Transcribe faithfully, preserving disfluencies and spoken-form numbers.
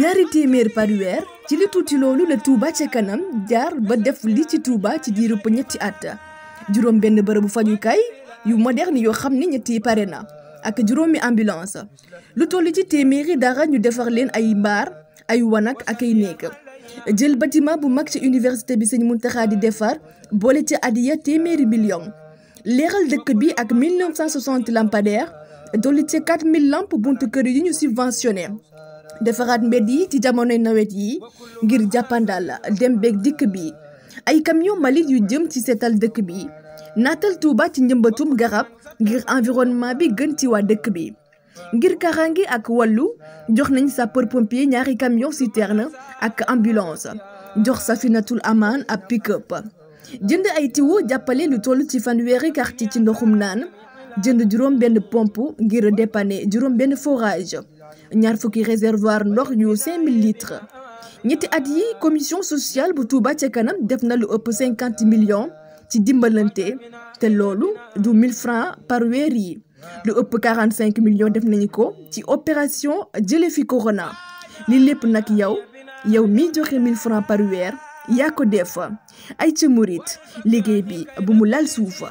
ñaari téeméer par weer ci li tuuti loolu la Touba ca kanam jaar ba def li ci Touba ci diirub ñetti at juróom benn bërëbu fajukaay yu moderne yoo xam ne ñetti pare na ak juróomi ambulance lu toll ci téeméeri dara ñu defar leen ay mbaar ay wanak ak ay néeg jël bâtiment bu mag ci université bi Sëñ Muntaxa di defar boole ci adiya téeméeri million leeral dëkk bi ak mille neuf cent soixante lampadaires dolli ci quatre mille lampes buntu kër yi ñu subventionné defaraat mbedd yi ci jamonoy nawet yi ngir jàppandal dem beeg dikk bi ay camion mbalit yu jëm ci seetal dëkk bi naatal Touba ci njëmbatum garab ngir environnement bi gën ci waa dëkk bi ngir karangi ak wàllu jox nañ sapeur pompier ñaari camion citerne ak ambulance jox Safinatul Aman ab pick-up jënd ay tiwo jàppale lu toll ci fanweeri quartier ci ndoxum naan jënd juróom benn pompe ngir dépanner juróom benn forage ñaar fukki réservoir ndox yu cinq mille litres ñetti at yi commission sociale bu Touba ca kanam def na lu ëpp cinquante millions ci dimbalante te loolu du mille francs par weer yi lu ëpp quarante cinq millions def nañu ko ci opération jële fi corona li lépp nag yow yow mi joxe mille francs par weer yaa ko def ay ca murit liggéey bi bu mu lal suufa